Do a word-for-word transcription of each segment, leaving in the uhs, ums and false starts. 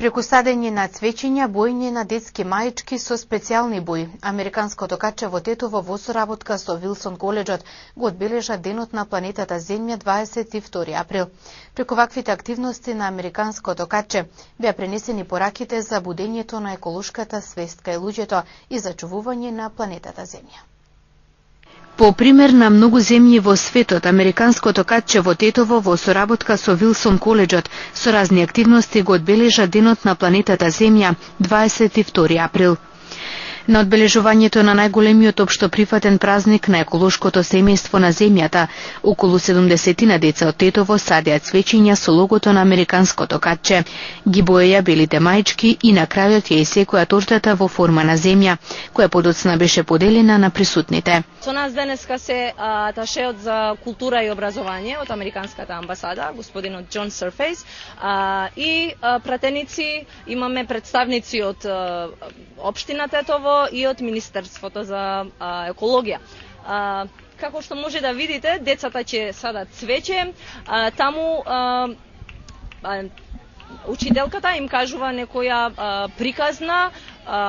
Преку садење на цвеќиња, боење на детски маички со специјални бои, Американското каче во Тетово во соработка со Вилсон коледжот го одбележа Денот на планетата Земја дваесет и втори април. Преку ваквите активности на Американското каче беа пренесени пораките за будењето на еколошката свест кај луѓето и зачувување на планетата Земја. По пример на многу земји во светот, Американското каче во Тетово во соработка со Вилсон коледжот со разни активности го одбележа Денот на планетата Земја дваесет и втори април. На одбележувањето на најголемиот општо прифатен празник на еколошкото семејство на Земјата, околу седумдесетина деца од Тетово садеа цвеќиња со логото на Американското каче, ги боеја белите маички и на крајот ја исекоја тортата во форма на земја, која подоцна беше поделена на присутните. Со нас денеска се аташеот за култура и образование од Американската амбасада, господинот Џон Серфејс, и пратеници, имаме представници од општина Тетово и од Министерството за а, екологија. А, како што може да видите, децата ќе садат цвеќе, а, таму а, а, учителката им кажува некоја а, приказна а,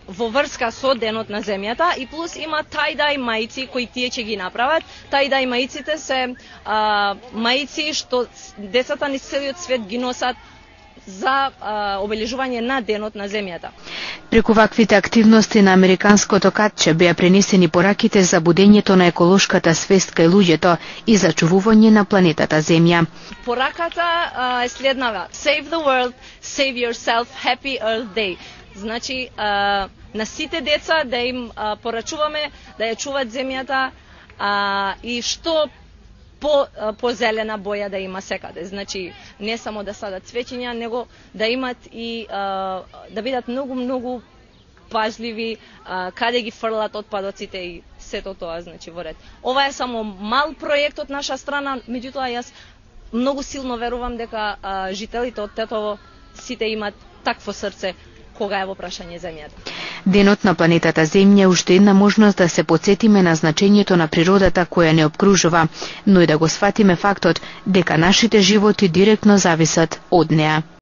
во врска со Денот на Земјата и плюс има тајдај маици кои тие ќе ги направат. Тајдај маиците се а, маици што децата низ целиот свет ги носат за а, обележување на Денот на Земјата. Преку ваквите активности на Американското каче беа пренесени пораките за будењето на еколошката свест кај луѓето и зачувување на планетата Земја. Пораката а, е следнава: Save the world, save yourself, happy Earth Day. Значи, а, на сите деца да им а, порачуваме да ја чуваат земјата а, и што по по зелена боја да има секаде. Значи не само да садат цвеќиња, него да имат и а, да бидат многу многу пажливи а, каде ги фрлат отпадоците и сето тоа, значи во ред. Ова е само мал проект од наша страна, меѓутоа јас многу силно верувам дека а, жителите од Тетово сите имат такво срце кога е во прашање земјата. Денот на планетата Земја е уште една можност да се потсетиме на значењето на природата која не обкружува, но и да го сфатиме фактот дека нашите животи директно зависат од неа.